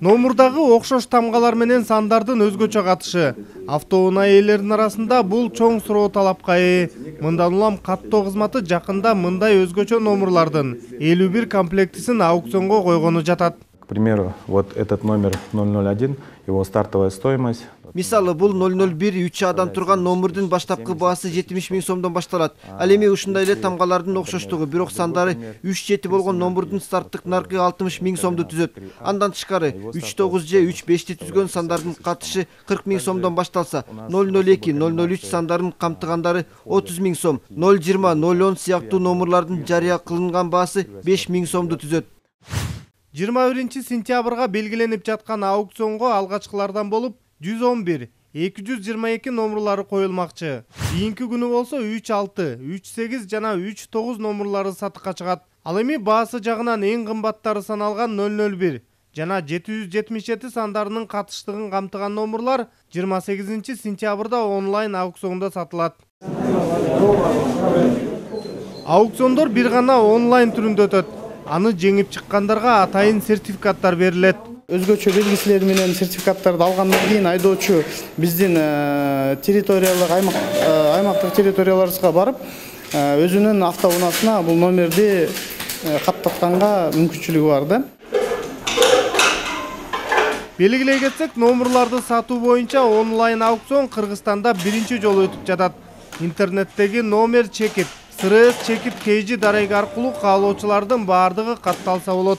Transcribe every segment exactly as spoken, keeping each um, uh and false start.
Номурдагы окшош тамгалар менен сандардын өзгөчө катышы. Автоунаа ээлеринин арасында бул чоң суроо талапка ээ. Мындан улам каттоо кызматы жакында мындай өзгөчө номурлардын элүү бир комплектисин аукционго койгону жатат. К примеру, вот этот номер ноль ноль один, его стартовая стоимость. Мисалы, бул ноль ноль бир үч адан турган номурдун баштапкы баасы жетимиш миң сомдон башталат. Ал эми ушундай эле тамгалардын окшоштугу, бирок сандары үч жети болгон номурдун старттык наркы алтымыш миң сомду түзөт. Андан тышкары үч тогуз же үч бешти түзгөн сандардын катышы кырк миң сомдон башталса, ноль ноль эки, ноль ноль үч сандарын камтыгандары отуз миң сом, ноль жыйырма, ноль он сыяктуу номурлардын жарыя кылынган баасы беш миң сомду түзөт. жыйырма биринчи сентябрга белгиленип жаткан аукционго алгачкылардан болуп жүз он бир, эки жүз жыйырма эки номурлары коюлмакчы. Кийинки күнү болсо үч алты, үч сегиз жана үч тогуз номурлары сатыкка чыгат. Ал эми баасы жагынан эң кымбаттары саналган ноль ноль бир жана жети жүз жетимиш жети сандарынын катыштыгын камтыган номурлар жыйырма сегизинчи сентябрда онлайн аукциондо сатылат. Аукциондор бир гана онлайн түрүндө өтөт. Аны жеңип чыккандарга атайын сертификаттар берилет. Өзгөчө белгиселер менен сертификаттарды алгандан кийин айдоочу биздин территориялык аймак аймактык территорияларыбызга барып, өзүнүн автоунаасына бул номерди каттатканга мүмкүнчүлүгү бар да. Белгилей кетсек, номурларды сатуу боюнча онлайн аукцион Кыргызстанда биринчи жолу өтүп жатат. Интернеттеги номер чекит, сырыс чекит кейжи дареги аркылуу каалоочулардын баардыгы катталса болот.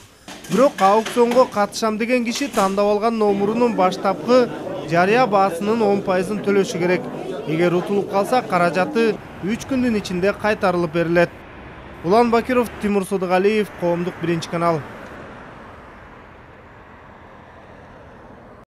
Бирок аукционго катышам деген киши тандап алган номурунун баштапкы жарыя баасынын он пайызын төлөшү керек. Эгер утулуп калса, каражаты үч күндүн ичинде кайтарылып берилет. Улан Бакиров, Тимур Содугалиев, Коомдук биринчи канал.